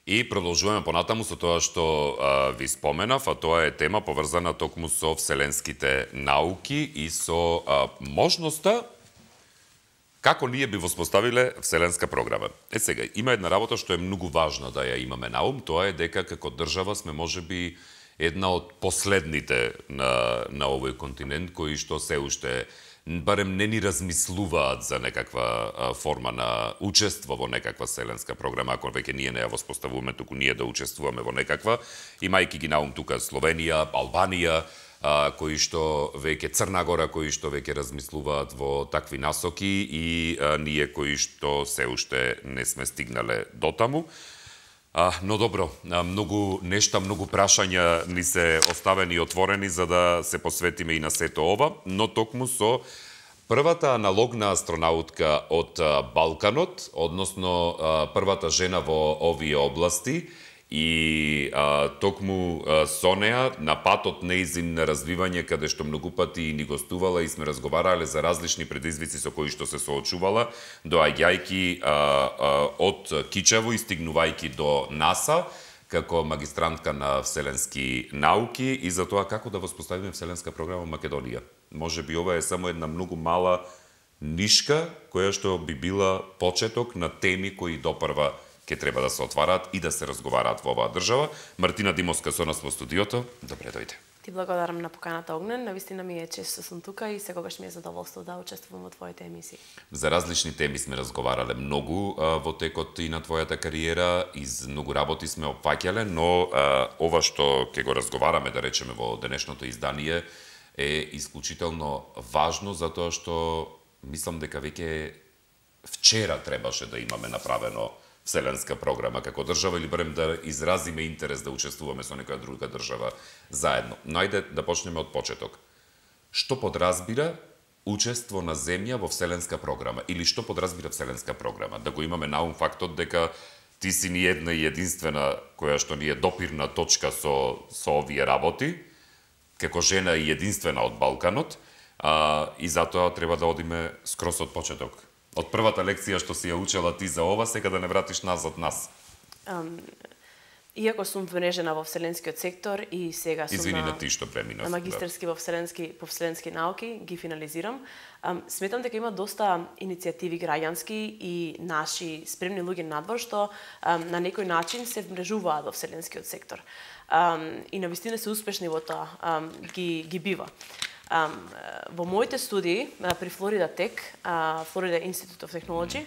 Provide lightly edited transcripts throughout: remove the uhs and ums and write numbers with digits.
И продолжуваме понатаму со тоа што ви споменав, а тоа е тема поврзана токму со вселенските науки и со можноста како ние би воспоставиле вселенска програма. Сега, има една работа што е многу важна да ја имаме на ум, тоа е дека како држава сме можеби една од последните на овој континент кои што се уште барем не ни размислуваат за некаква форма на учество во некаква вселенска програма, ако веќе ние не ја воспоставуваме, туку ние да учествуваме во некаква, имајќи ги на ум тука Словенија, Албанија, кои што веќе Црна Гора, кои што веќе размислуваат во такви насоки и ние кои што се уште не сме стигнале дотаму. Но добро, многу нешта, многу прашања ни се оставени отворени за да се посветиме и на сето ова, но токму со првата аналогна астронаутка од Балканот, односно првата жена во овие области, и токму со неа на патот неизин на развивање, каде што многу пати ни гостувала и сме разговарале за различни предизвици со кои што се соочувала, доаѓајќи од Кичево и стигнувајќи до НАСА, како магистрантка на вселенски науки и за тоа како да воспоставиме вселенска програма во Македонија. Може би ова е само една многу мала нишка, која што би била почеток на теми кои допрва ќе треба да се отвараат и да се разговараат во оваа држава. Мартина Димовска со нас во студиото. Добре дојде. Ти благодарам на поканата, Огнен. Навистина ми е чест што сум тука и секогаш ми е задоволство да учествувам во твоите емисии. За различни теми сме разговарале многу во текот и на твојата кариера, из многу работи сме опфаќале, но ова што ќе го разговараме, да речеме, во денешното издание е исклучително важно, затоа што мислам дека веќе вчера требаше да имаме направено вселенска програма како држава или барем да изразиме интерес да учествуваме со некоја друга држава заедно. Но ајде да почнеме од почеток. Што подразбира учество на земја во вселенска програма или што подразбира вселенска програма? Да го имаме на ум фактот дека ти си ни една и единствена која што ни е допирна точка со овие работи, како жена и единствена од Балканот, и затоа треба да одиме скрос од почеток. Од првата лекција што си ја учела ти за ова, сега да не вратиш назад нас. Иако сум вмрежена во вселенскиот сектор и сега сум на ти што преминав, на магистерски во вселенски науки, ги финализирам, сметам дека има доста иницијативи граѓански и наши спремни луѓе надвор што на некој начин се вмрежуваат во вселенскиот сектор. И навистина се успешни во тоа, ги бива. Во моите студии при Флорида Тек, Florida Institute of Technology,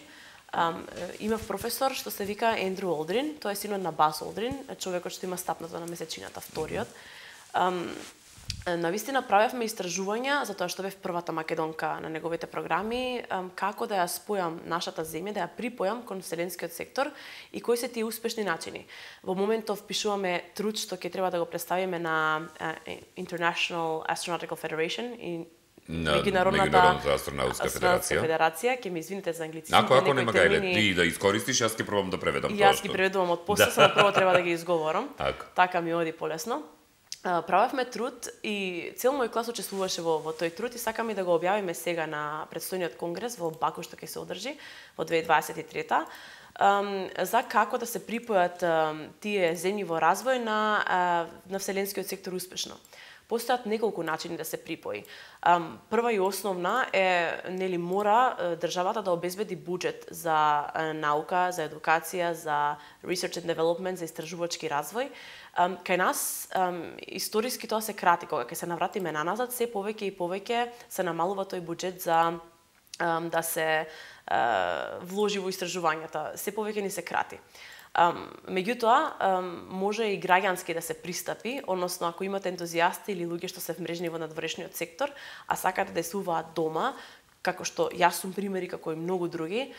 имав професор што се вика Ендрю Олдрин, тој е синот на Бас Олдрин, човекот што има стапната на месечината, вториот. Навистина правевме истражувања за тоа што бев првата македонка на неговите програми, како да ја спојам нашата земја, да ја припојам кон вселенскиот сектор и кои се тие успешни начини. Во моментов пишуваме труд што ќе треба да го представиме на International Astronautical Federation и Меѓународната астронаутска федерација. Ќе ми извините за англицизмите. Ако нема гајле, ти да искористиш, јас ќе пробам да преведам тоа. Јас ги преведувам од после, само прво треба да ги изговорам. Така ми оди полесно. Правевме труд и цел мој клас учествуваше во тој труд и сакаме да го објавиме сега на предстојниот конгрес во Баку што ќе се одржи во 2023 за како да се припојат тие земји во развој на вселенскиот сектор успешно. Постојат неколку начини да се припои. Прва и основна е, мора државата да обезбеди буџет за наука, за едукација, за research and development, за истражувачки развој. Кај нас историски тоа се крати, кога ќе се навратиме наназад, се повеќе и повеќе се намалува тој буџет за да се вложи во истражувањата. Се повеќе ни се крати. Меѓутоа, може и граѓански да се пристапи, односно ако имате ентузијасти или луѓе што се вмрежени во надворешниот сектор, а сакате да действуваат дома, како што јас сум примери, како и многу други,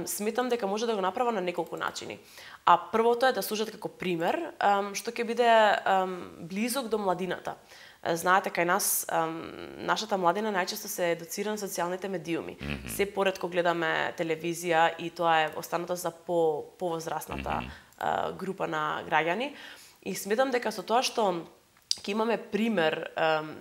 сметам дека може да го направа на неколку начини. А првото е да служат како пример, што ќе биде близок до младината. Знаете, кај нас, нашата младина најчесто се едуцира на социјалните медиуми. Се поретко гледаме телевизија и тоа е останато за повозрасната група на граѓани. И сметам дека со тоа што ќе имаме пример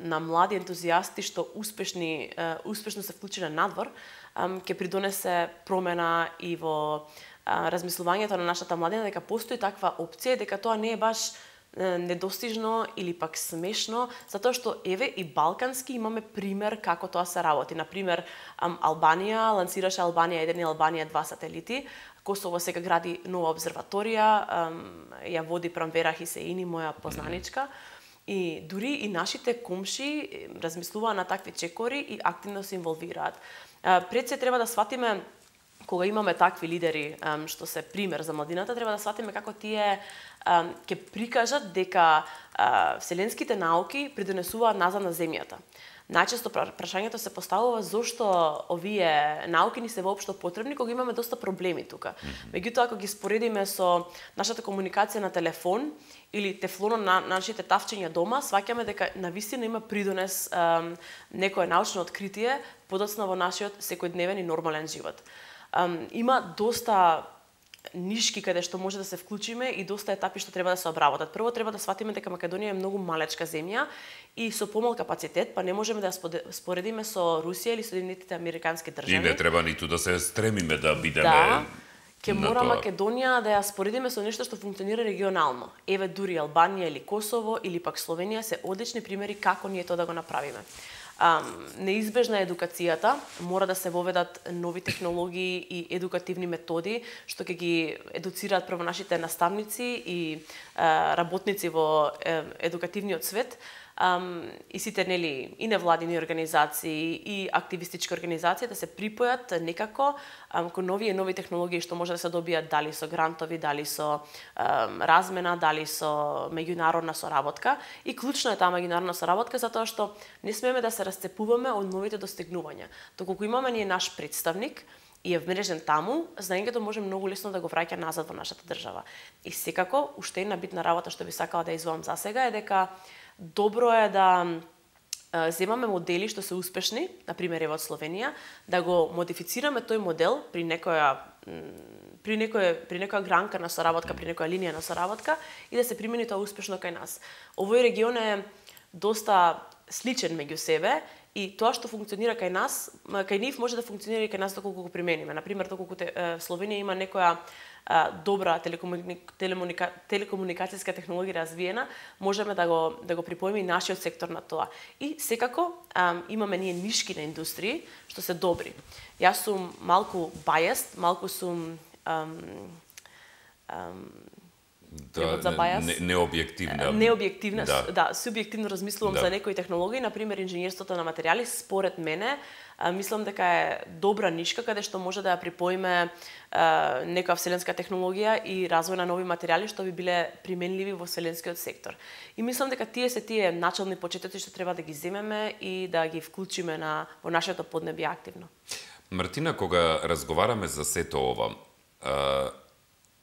на млади ентузијасти што успешно се вклучиле надвор, ќе придонесе промена и во размислувањето на нашата младина дека постои таква опција, дека тоа не е баш недостижно или пак смешно, затоа што еве и балкански имаме пример како тоа се работи. Например, Албанија лансираше Албанија 1 и Албанија 2 сателити. Косово сега гради нова обсерваторија, ја води Прамвера Хисеини, моја познаничка. И дури и нашите комши размислуваат на такви чекори и активно се инволвираат. Пред се треба да сватиме, кога имаме такви лидери што се пример за младината, треба да сватиме како тие ќе прикажат дека вселенските науки придонесуваат назад на земјата. Најчесто прашањето се поставува зошто овие науки ни се воопшто потребни кога имаме доста проблеми тука. Меѓутоа, ако ги споредиме со нашата комуникација на телефон или тефлонот на нашите тавчиња дома, сваќаме дека навистина има придонес некое научно откритие подоцна во нашиот секојдневен и нормален живот. Има доста нишки каде што може да се вклучиме и доста етапи што треба да се обработат. Прво треба да сватиме дека Македонија е многу малечка земја и со помал капацитет, па не можеме да споредиме со Русија или Соединетите Американски држави. И не треба ниту да се стремиме да бидеме ќе мора Македонија да ја споредиме со нешто што функционира регионално. Еве дури Албанија или Косово или пак Словенија се одлични примери како ние тоа да го направиме. Неизбежна е едукацијата, мора да се воведат нови технологии и едукативни методи што ќе ги едуцираат прво нашите наставници и работници во едукативниот свет. И сите нели и невладини организации и активистички организации да се припојат некако кон нови технологии што може да се добијат дали со грантови, дали со размена, дали со меѓународна соработка. И клучно е таа меѓународна соработка затоа што не смееме да се расцепуваме од новите достигнувања. Доколку имаме ние наш представник и е вмрежен таму, знаењето може многу лесно да го враќа назад во нашата држава. И секако, уште една битна работа што би сакала да извоам за сега е дека добро е да земаме модели што се успешни, например од Словенија, да го модифицираме тој модел при некоја гранка на соработка, при некоја линија на соработка и да се примени тоа успешно кај нас. Овој регион е доста сличен меѓу себе и тоа што функционира кај нас, кај нив може да функционира и кај нас доколку го примениме. Например, доколку Словенија има некоја добра телекомуникацијска технологија развиена, можеме да го припоиме и нашиот сектор на тоа. И секако имаме ние нишки на индустрии што се добри. Јас сум малку biased, малку сум необјективна. Необјективна, да, субјективно размислувам за некои технологии, например инженерството на материјали, според мене, мислам дека е добра нишка каде што може да ја припоиме некоја вселенска технологија и развој на нови материјали што би биле применливи во вселенскиот сектор. И мислам дека тие начални почетоци што треба да ги земеме и да ги вклучиме во нашето поднебје активно. Мартина, кога разговараме за сето ова,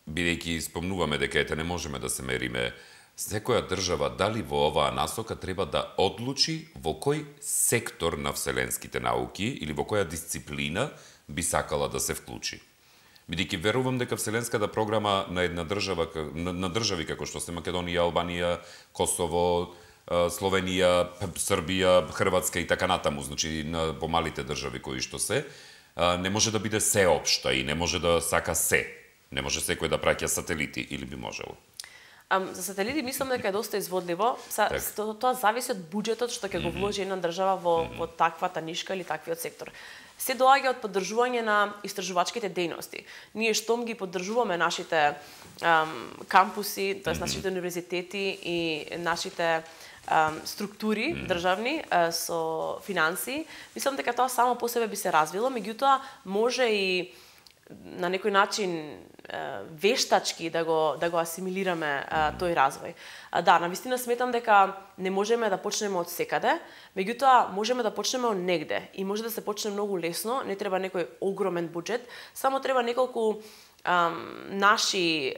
бидејќи спомнуваме дека ете не можеме да се мериме, секоја држава дали во оваа насока треба да одлучи во кој сектор на вселенските науки или во која дисциплина би сакала да се вклучи. Бидејќи верувам дека вселенската програма на една држава, на држави како што се Македонија, Албанија, Косово, Словенија, Србија, Хрватска и така натаму, значи на помалите држави кои што се, не може да биде сеопшта и не може да сака се. Не може секој да праќа сателити или би можело? За сателити мислам дека е доста изводливо. Тоа зависи од буџетот што ќе го вложи една држава во таквата нишка или таквиот сектор. Се доаѓа од поддржување на истражувачките дејности. Ние штом ги поддржуваме нашите кампуси, тоест нашите универзитети и нашите структури државни со финансии, мислам дека тоа само по себе би се развило, меѓутоа може и на некој начин вештачки да го асимилираме тој развој. Да, навистина сметам дека не можеме да почнеме од секаде, меѓутоа можеме да почнеме од негде и може да се почне многу лесно, не треба некој огромен буџет, само треба неколку наши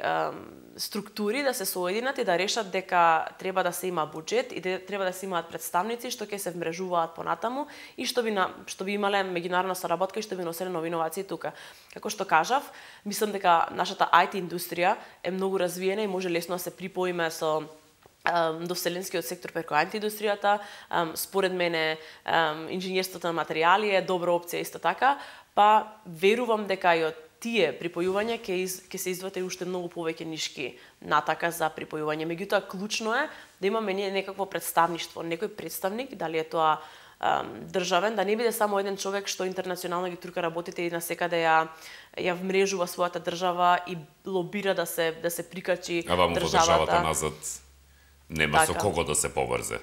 структури да се соединат и да решат дека треба да се има буџет и треба да се имаат представници што ќе се вмрежуваат понатаму и што би имале меѓународна соработка и што би носеле нови иновации тука. Како што кажав, мислам дека нашата IT индустрија е многу развиена и може лесно да се припоиме со до вселенскиот сектор преку IT индустријата. Според мене инженерството на материјали е добра опција исто така, па верувам дека и од тие припојувања ќе се издвојат уште многу повеќе нишки натака за припојување. Меѓутоа, клучно е да имаме некакво представништво, некој представник, дали е тоа државен, да не биде само еден човек што интернационално ги турка работите и насекаде ја вмрежува својата држава и лобира да се прикачи државата. А ваму во државата назад нема со кого да се поврзе.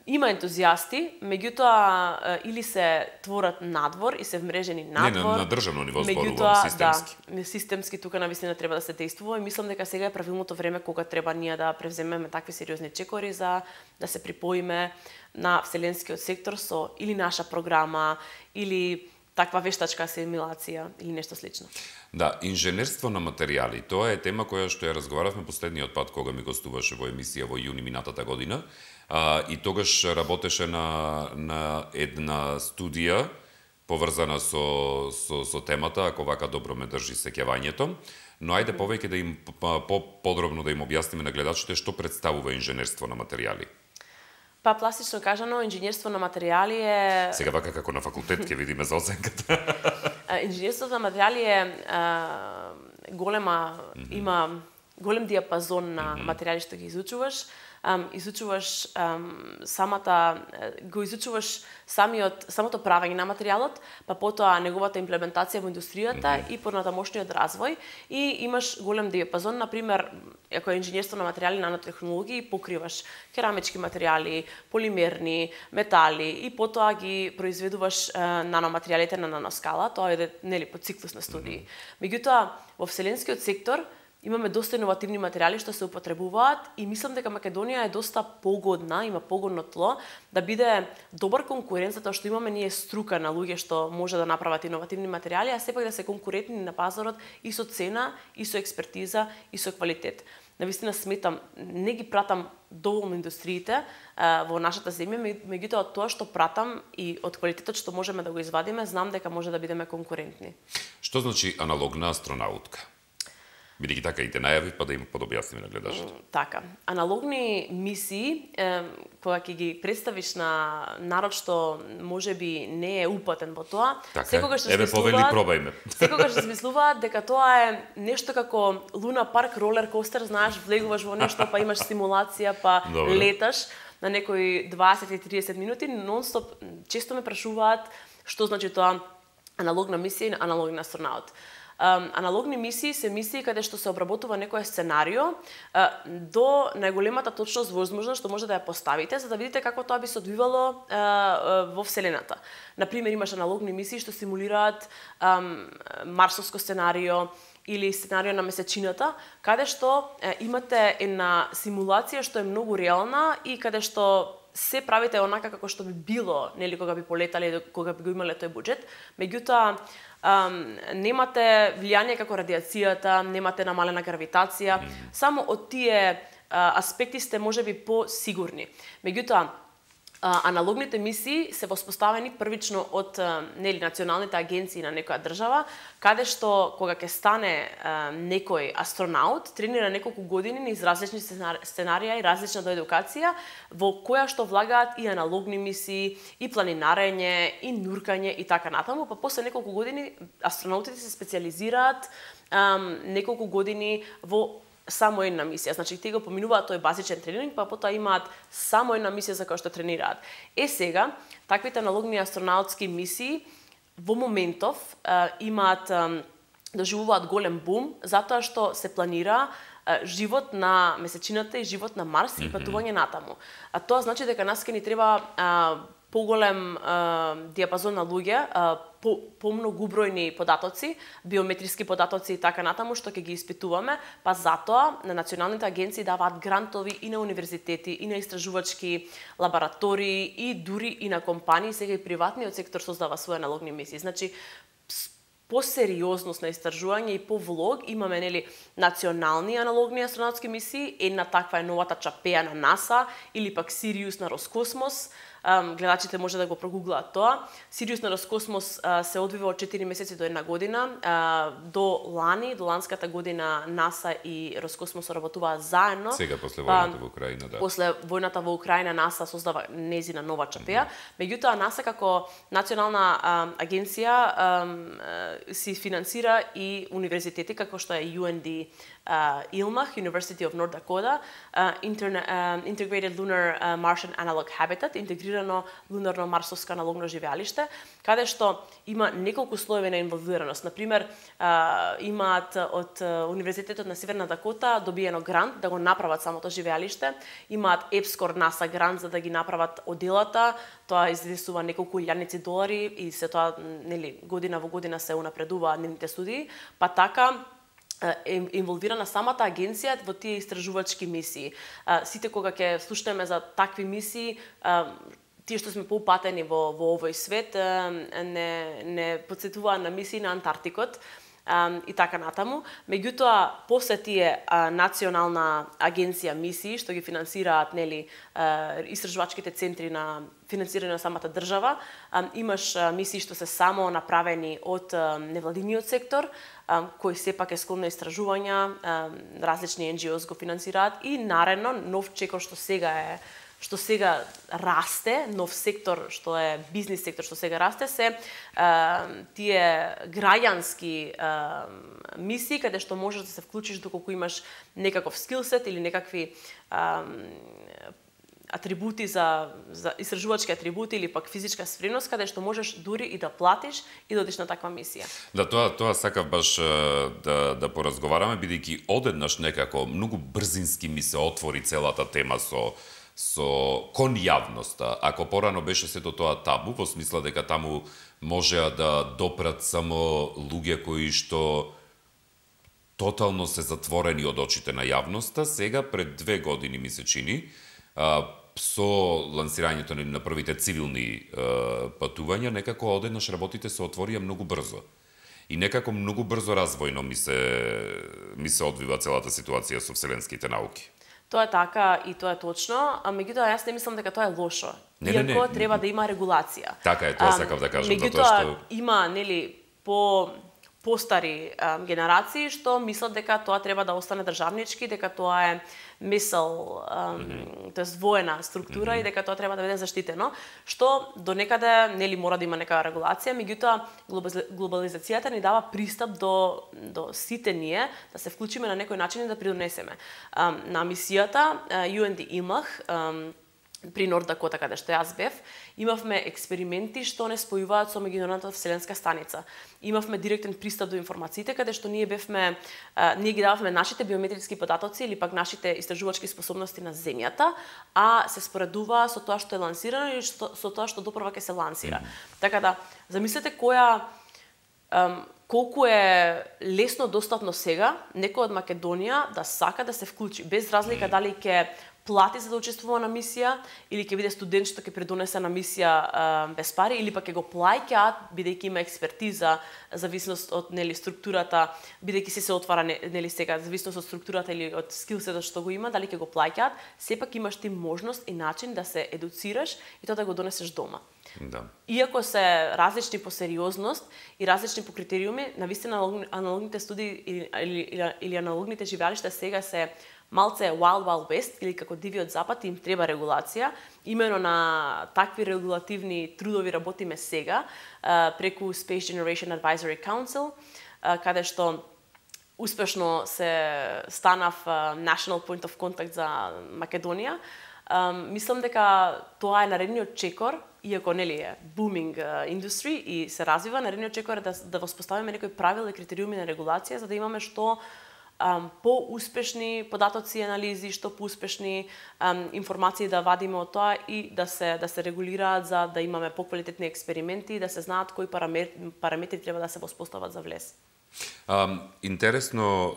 Има ентузијасти, меѓутоа или се творат надвор и се вмрежени надвор. Не, на државно ниво зборувам, системски. Да, системски тука навистина треба да се действува и мислам дека сега е правилното време кога треба ние да превземеме такви сериозни чекори за да се припоиме на вселенскиот сектор со или наша програма или таква вештачка асимилација или нешто слично. Да, инженерство на материјали, тоа е тема која што ја разговаравме последниот пат кога ми гостуваше во емисија во јуни минатата година. И тогаш работеше на една студија поврзана со темата, ако вака добро ме држи сеќавањето. Но ајде повеќе да им подробно да им објасниме на гледачите што представува инженерство на материјали. Па пластично кажано, инженерство на материјали е... Сега вака како на факултет ќе видиме за оценката. Инженерството на материјали е има голем диапазон на материјали што ги изучуваш. Изучуваш самото правење на материјалот, па потоа неговата имплементација во индустријата и понатамошниот развој и имаш голем диапазон, например, ако е инженерство на материјали на нанотехнологии, покриваш керамички материјали, полимерни, метали и потоа ги произведуваш наноматеријалите на наноскала, тоа е нели по циклус на студии. Меѓутоа, во вселенскиот сектор имаме доста иновативни материјали што се употребуваат и мислам дека Македонија е доста погодна, има погодно тло да биде добар конкурент затоа што имаме ние струка на луѓе што може да направат иновативни материјали, а сепак да се конкурентни на пазарот и со цена, и со експертиза, и со квалитет. Навистина сметам, не ги пратам доволно индустриите во нашата земја, меѓутоа тоа што пратам и од квалитетот што можеме да го извадиме, знам дека може да бидеме конкурентни. Што значи аналогна астронаутка? Бидејќи така и те најави, па да им подобјасниме на гледачите. Така, аналогни мисии, кога ќе ги представиш на народ што можеби не е упатен во тоа, секогаш се пробајме. Секогаш се смислуваат дека тоа е нешто како Луна парк, ролер костер, знаеш, влегуваш во нешто, па имаш симулација, па леташ на некои 20-30 минути, нон-стоп често ме прашуваат што значи тоа аналогна мисија и аналоген астронаут. Аналогни мисии се мисии каде што се обработува некое сценарио до најголемата точност возможна што може да ја поставите, за да видите како тоа би се одвивало во Вселената. Например, имаш аналогни мисии што симулираат марсовско сценарио или сценарио на месечината, каде што имате една симулација што е многу реална и каде што се правите онака како што би било, нели, кога би полетале, кога би го имале тој буџет, меѓутоа немате влијание како радиацијата, немате намалена гравитација, само од тие аспекти сте можеби посигурни. Меѓутоа, аналогните мисии се воспоставени првично од нели националните агенции на некоја држава, каде што кога ќе стане некој астронаут, тренира неколку години низ различни сценарија и различна едукација, во која што влагаат и аналогни мисии, и планинарење, и нуркање и така натаму, па после неколку години астронаутите се специализираат неколку години во само една мисија. Значи, те го поминуваат тој базичен тренинг, па потоа имаат само една мисија за која што тренираат. Сега, таквите аналогни астронаутски мисии во моментов доживуваат голем бум, затоа што се планира живот на месечината и живот на Марс и патување натаму. А тоа значи дека нас ке ни треба поголем диапазон на луѓе, помногу бројни податоци, биометриски податоци и така натаму, што ќе ги испитуваме, па затоа на националните агенции даваат грантови и на универзитети, и на истражувачки лаборатории, и дури и на компании, сега и приватниот сектор создава своји аналогни мисии. Значи, по сериозност на истражување и по влог имаме нели национални аналогни астронаутски мисии, една таква е новата Чапеја на НАСА или пак Сириус на Роскосмос, гледачите може да го прогуглаат тоа. Сириус на Роскосмос се одвива од 4 месеци до 1 година. До ланската година НАСА и Роскосмос работуваат заедно. Сега после војната во Украина, да. После војната во Украина НАСА создава незина нова чапеја. Меѓутоа НАСА како национална агенција си финансира и универзитети како што е UND ILMAH, University of North Dakota, Integrated Lunar Martian Analog Habitat, интегрирано лунарно-марсовско аналогно живеалиште, каде што има неколку слоеви на инволвираност. Например, имаат од Универзитетот на Северна Дакота добиено грант да го направат самото живеалиште, имаат EPSCoR NASA грант за да ги направат оделата, тоа извисува неколку илјадници долари и се тоа, нели, година во година се унапредува нивните студии, па така инволвирана самата агенција во тие истражувачки мисии. Сите кога ќе слушнеме за такви мисии, тие што сме поупатени во овој свет, не подсетуваа на мисии на Антарктикот и така натаму. Меѓутоа, после тие национална агенција мисии што ги финансираат, нели, истражувачките центри на финансирање на самата држава, имаш мисии што се само направени од невладиниот сектор, кој сепак е склон на истражувања, различни NGOs го финансираат и наредно нов чекор што сега расте, нов сектор што е бизнис сектор што сега расте, се тие граѓански мисии каде што можеш да се вклучиш доколку имаш некаков скилсет или некакви атрибути за истражувачки атрибути или пак физичка спремност каде што можеш дури и да платиш и да одиш на таква мисија. Да, тоа сакав баш да поразговараме, бидејќи одеднаш некако многу брзински ми се отвори целата тема со кон јавноста. Ако порано беше сето тоа табу, во смисла дека таму можеа да допрат само луѓе кои што тотално се затворени од очите на јавноста, сега пред 2 години ми се чини, со лансирањето на првите цивилни патувања, некако одеднаш работите се отворија многу брзо. И некако многу брзо развојно ми се одвива целата ситуација со вселенските науки. Тоа е така и тоа е точно, а меѓутоа јас не мислам дека тоа е лошо. Иако треба да има регулација. Така е, тоа сакав да кажам. Меѓутоа има, нели, постари генерации што мислат дека тоа треба да остане државнички, дека тоа е мисел, тоест воена структура и дека тоа треба да биде заштитено, што до некаде, нели, мора да има некава регулација, меѓутоа глобализацијата ни дава пристап до сите ние да се вклучиме на некој начин и да придонесеме. На мисијата UND ILMAH при Норд Дакота, каде што јас бев, имавме експерименти што не спојуваат со меѓународната вселенска станица. Имавме директен пристап до информациите, каде што ние ги дававме нашите биометриски податоци или пак нашите истражувачки способности на земјата, а се споредува со тоа што е лансирано и со тоа што допрва ќе се лансира. Така да, замислете колку е лесно достапно сега некој од Македонија да сака да се вклучи, без разлика дали ќе плати за да учествува на мисија, или ќе биде студент што ќе придонесе на мисија без пари, или пак ќе го плаќаат, бидејќи има експертиза, зависност од, нели, структурата, бидејќи се отвара, нели, сега, зависност од структурата или од скилсетот што го има, дали ќе го плаќаат, сепак имаш ти можност и начин да се едуцираш и тоа да го донесеш дома. Да. Иако се различни по сериозност и различни по критериуми, навистина аналогните студии или аналогните живеалишта сега се малце Wild Wild West, или како дивиот запад, им треба регулација. Имено на такви регулативни трудови работиме сега, преку Space Generation Advisory Council, каде што успешно се станав National Point of Contact за Македонија. Мислам дека тоа е наредниот чекор, иако, нели, е booming industry и се развива, наредниот чекор е да воспоставиме некои правила и критериуми на регулација, за да имаме што поуспешни податоци и анализи, што поуспешни информации да вадиме од тоа и да се регулираат за да имаме поквалитетни експерименти и да се знаат кои параметри треба да се воспостават за влез. Интересно,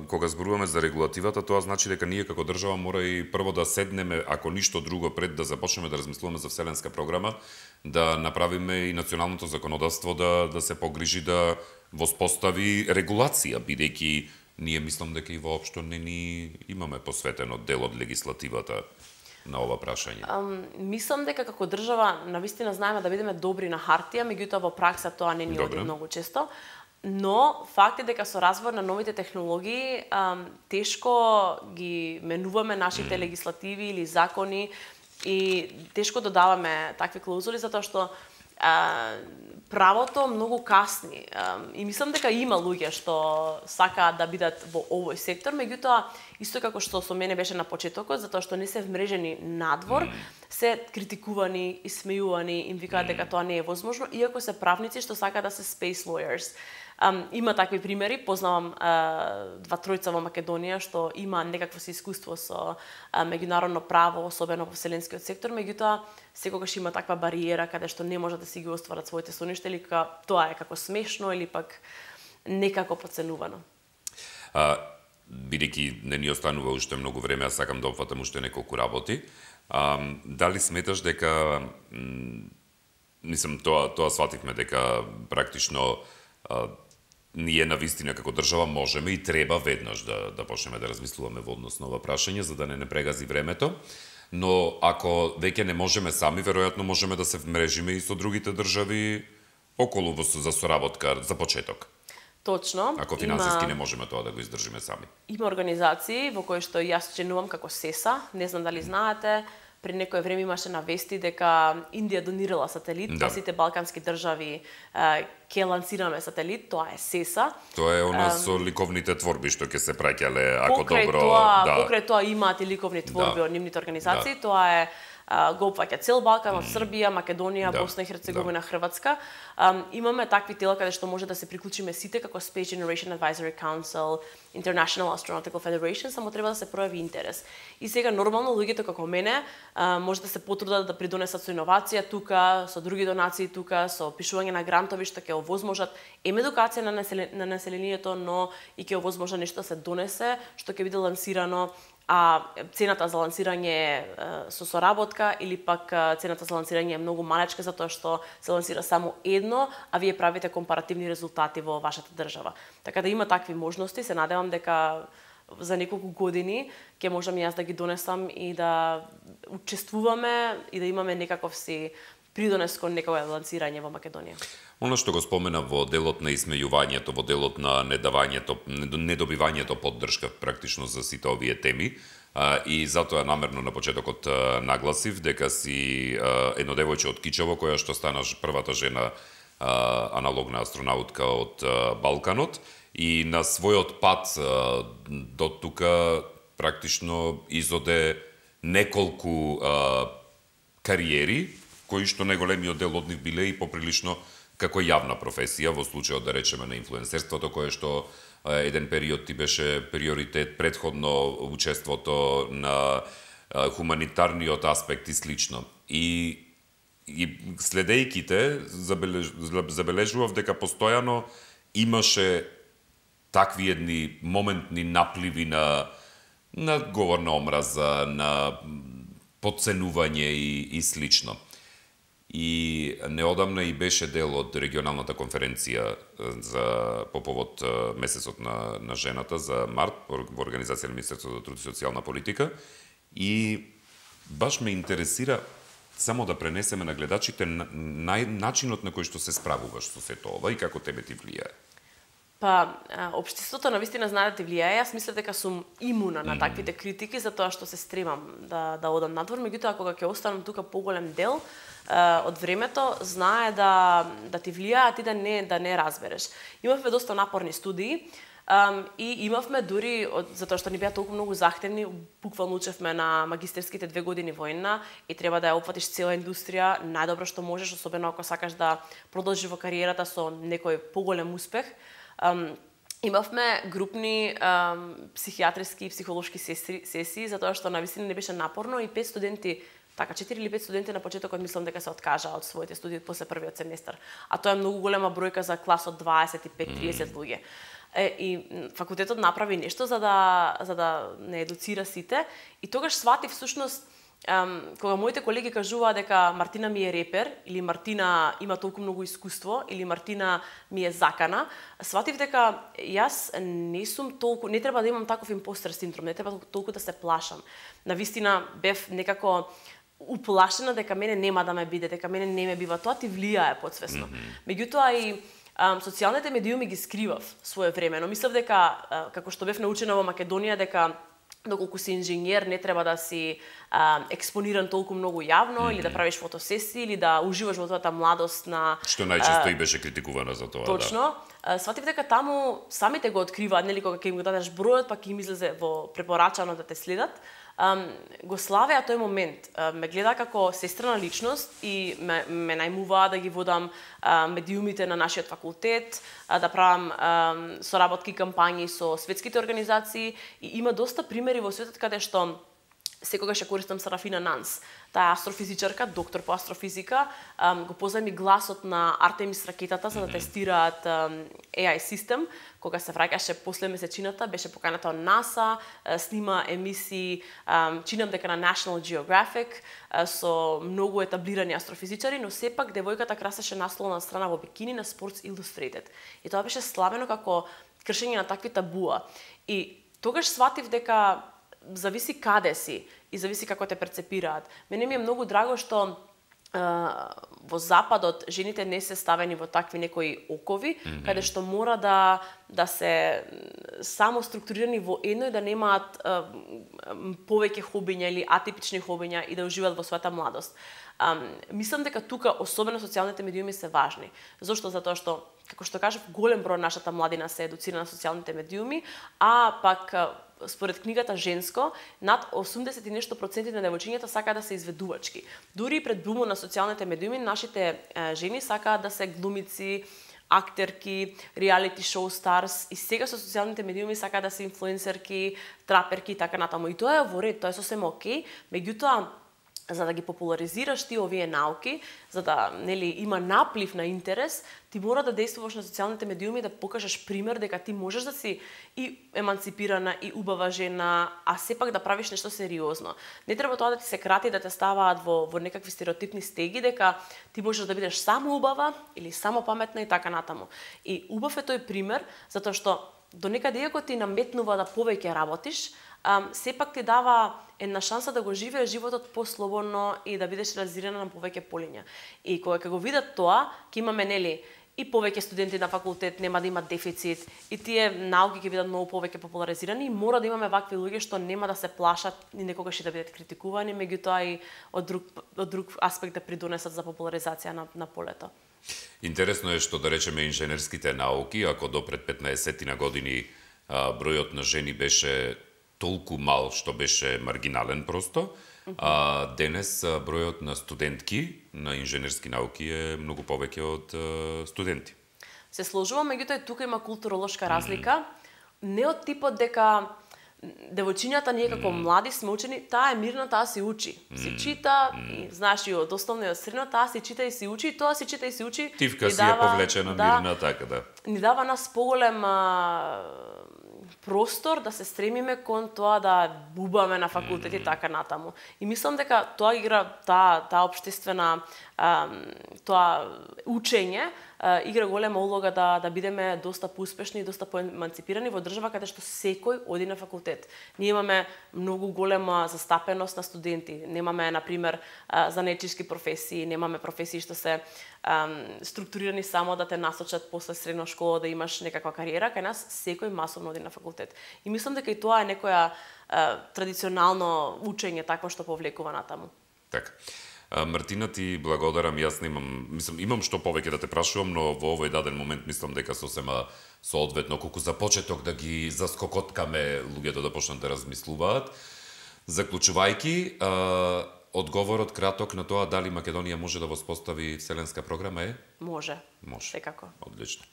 кога зборуваме за регулативата, тоа значи дека ние како држава мора и прво да седнеме, ако ништо друго, пред да започнеме да размислуваме за вселенска програма, да направиме и националното законодавство да се погрижи да воспостави регулација, бидејќи ние мислам дека и воопшто не ни имаме посветено дел од легислативата. на ова прашање? Мислам дека како држава навистина знаеме да бидеме добри на хартија, меѓутоа во пракса тоа не ни оди многу често. Но факт е дека со развој на новите технологии тешко ги менуваме нашите легислативи или закони и тешко додаваме такви клаузули затоа што правото многу касни. И мислам дека има луѓе што сакаат да бидат во овој сектор, меѓутоа исто како што со мене беше на почетокот, затоа што не се вмрежени надвор, се критикувани, исмејувани, им викаат дека тоа не е возможно, иако се правници што сакаат да се space lawyers. Има такви примери, познавам два тројца во Македонија што има некакво си искуство со меѓународно право, особено во вселенскиот сектор, меѓутоа секогаш има таква бариера каде што не може да си ги остварат своите соништа или тоа е како смешно или пак некако подценувано. Бидејќи не ни останува уште многу време, а сакам да опфатам уште неколку работи. Дали сметаш дека тоа свативме дека практично ние навистина како држава можеме и треба веднаш да почнеме да размислуваме во однос на ова прашање за да не прегази времето, но ако веќе не можеме сами, веројатно можеме да се вмрежиме и со другите држави околу за соработка за почеток. Точно. Ако финансиски не можеме тоа да го издржиме сами. Има организации во кои што јас членувам како СЕСА, не знам дали знаете, при некое време имаше на вести дека Индија донирала сателит, па сите балкански држави ќе лансираме сателит, тоа е СЕСА. Тоа е она со ликовните творби што ќе се праќале ако добро. Покрај тоа имаат и ликовни творби од нивните организации, тоа е го опфаќа цел Балкан, од Србија, Македонија, Босна и Херцеговина, Хрватска. Имаме такви тела каде што може да се приклучиме сите како Space Generation Advisory Council, International Astronautical Federation, само треба да се пројави интерес. И сега нормално луѓето како мене може да се потрудат да придонесат со иновација тука, со други донации тука, со пишување на грантови што ќе овозможат едукација на населението, но и ќе овозможат нешто да се донесе, што ќе биде лансирано, а цената за лансирање е со соработка или пак цената за лансирање е многу малечка затоа што се лансира само едно, а вие правите компаративни резултати во вашата држава. Така да има такви можности, се надевам дека за неколку години ќе можам јас да ги донесам и да учествуваме и да имаме некаков си придонес кон некое лансирање во Македонија. Оно што го спомена во делот на исмејувањето, во делот на недобивањето поддршка практично за сите овие теми, и затоа намерно на почетокот нагласив дека си едно девојче од Кичево, која што стана првата жена аналогна астронаутка од Балканот, и на својот пат до тука практично изоде неколку кариери, кои што најголемиот дел од нив биле и поприлично како јавна професија, во случајот да речеме на инфлуенсерството, кое што еден период ти беше приоритет, предходно учеството на хуманитарниот аспект и слично. И следејќи те, забележував дека постојано имаше такви едни моментни напливи на говор на омраза, на подценување и слично. И неодамна и беше дел од регионалната конференција по повод месецот на жената за март во организација на Министерството за труд и социјална политика, и баш ме интересира само да пренесеме на гледачите начинот на кој што се справуваш со сето ова и како тебе ти влијае. Па, општеството навистина знае да ти влијае. Јас мислам дека сум имуна на таквите критики затоа што се стремам да одам надвор, меѓутоа кога ќе останам тука поголем дел од времето, знае да ти влијае, а ти да не разбереш. Имавме доста напорни студии и имавме дури, затоа што ни беа толку многу захтевни, буквално учевме на магистерските 2 години војна и треба да ја опфатиш цела индустрија, најдобро што можеш, особено ако сакаш да продолжиш во кариерата со некој поголем успех. Имавме групни психијатриски и психолошки сесии, затоа што навистина не беше напорно и 5 студенти, така 4 или 5 студенти на почетокот мислам дека се откажаа од своите студии после првиот семестар. А тоа е многу голема бројка за клас од 25-30 луѓе. И факултетот направи нешто за да не едуцира сите и тогаш сватив всушност кога моите колеги кажуваа дека Мартина ми е репер, или Мартина има толку многу искуство, или Мартина ми е закана, сватив дека јас не сум толку, не треба да имам таков импостер синдром, не треба толку да се плашам. Навистина бев некако уплашена дека мене нема да ме биде, дека мене не ме бива, тоа ти влијае подсвесно. Меѓутоа и социјалните медиуми ги скривав своевремено. Мислев дека, како што бев научена во Македонија, дека доколку си инженер не треба да си експониран толку многу јавно или да правиш фотосесии или да уживаш во твојата младост на што најчесто и беше критикувано за тоа. Точно. Да. Сватив дека таму самите го откриваат, нели кога ќе им го дадеш бројот, па ќе им излезе во препорачано да те следат. Го славеа тој момент. Ме гледа како сестрена личност и ме најмуваа да ги водам медиумите на нашиот факултет, да правам соработки кампањи со светските организации и има доста примери во светот каде што секогаш ја користам Сарафина Нанс. Таа е астрофизичарка, доктор по астрофизика, го позајми гласот на Артемис ракетата за да тестираат AI систем. Кога се враќаше после месечината, беше поканата од НАСА, снима емисии, чинам дека на National Geographic, со многу етаблирани астрофизичари, но сепак девојката красеше насловна страна во бикини на Sports Illustrated. И тоа беше славено како кршење на такви табуа. И тогаш сватив дека зависи каде си и зависи како те перцепираат. Мене ми е многу драго што во Западот жените не се ставени во такви некои окови, каде што мора да се само структурирани во едно и да немаат повеќе хобиња или атипични хобиња и да уживаат во својата младост. Мислам дека тука особено социјалните медиуми се важни. Зошто? Затоа што, како што кажав, голем број нашата младина се едуцира на социјалните медиуми, а пак според книгата Женско, над 80 и нешто проценти на девојчињата сакаат да се изведувачки. Дури и пред бумот на социјалните медиуми, нашите жени сакаат да се глумици, актерки, реалити шоу старс и сега со социјалните медиуми сакаат да се инфлуенсерки, траперки и така натаму. И тоа е во ред, тоа е сосема окей, меѓутоа за да ги популаризираш ти овие науки, за да нели има наплив на интерес, ти мора да действуваш на социјалните медиуми да покажеш пример дека ти можеш да си и еманципирана и убава жена, а сепак да правиш нешто сериозно. Не треба тоа да ти се крати да те ставаат во некакви стереотипни стеги дека ти можеш да бидеш само убава или само паметна и така натаму. И убав е тој пример затоа што до некаде иако ти наметнува да повеќе работиш, сепак ти дава една шанса да го живееш животот послободно и да бидеш реализирана на повеќе полиња. И кога ќе го видат тоа, ќе имаме нели и повеќе студенти на факултет, нема да имат дефицит, и тие науки ќе бидат многу повеќе популаризирани и мора да имаме вакви луѓе што нема да се плашат и некогаш и да бидат критикувани, меѓутоа и од друг аспект да придонесат за популаризација на полето. Интересно е што да речеме инженерските науки, ако до пред 15 на години бројот на жени беше толку мал што беше маргинален просто, а денес бројот на студентки на инженерски науки е многу повеќе од студенти. Се сложувам, меѓутоа тука има културолошка разлика, не од типот дека девојчињата ние како млади сме учени, таа е мирна, таа си учи. Си чита, и знаеш и од основно и од средно, таа си чита и си учи, и тоа си чита и си учи. Тивка си е повлечена мирна, така да. Ни дава нас поголем простор да се стремиме кон тоа да бубаме на факултет и така натаму. И мислам дека тоа игра таа општествена тоа учење игра голема улога да бидеме доста поуспешни и доста поеманципирани во држава каде што секој оди на факултет. Ние имаме многу голема застапеност на студенти. Немаме, например, занечишки професии, немаме професии што се структурирани само да те насочат после средна школа да имаш некаква кариера. Кај нас секој масовно оди на факултет. И мислам дека и тоа е некоја традиционално учење такво што повлекува натаму. Така. Мартина, ти благодарам, јас имам што повеќе да те прашувам, но во овој даден момент мислам дека сосема соодветно колку за почеток да ги заскокоткаме луѓето да почнат да размислуваат. Заклучувајќи, одговорот краток на тоа дали Македонија може да воспостави вселенска програма е? Може. Може. Секако. Одлично.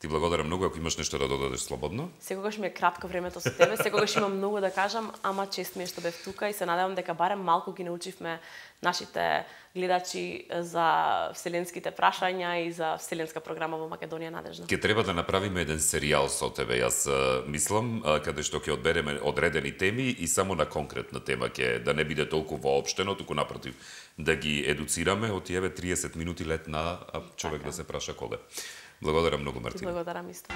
Ти благодарам многу, ако имаш нешто да додадеш слободно. Секогаш ми е кратко времето со тебе, секогаш имам многу да кажам, ама чест ми е што бев тука и се надевам дека барем малку ги научивме нашите гледачи за вселенските прашања и за вселенска програма во Македонија надежна. Ке треба да направиме еден серијал со тебе, јас мислам, каде што ќе одбереме одредени теми и само на конкретна тема ќе да не биде толку воопштено, туку напротив, да ги едуцираме од еве 30 минути лет на човек да се праша коле. Благодарам многу, Мартина. Благодарам исто.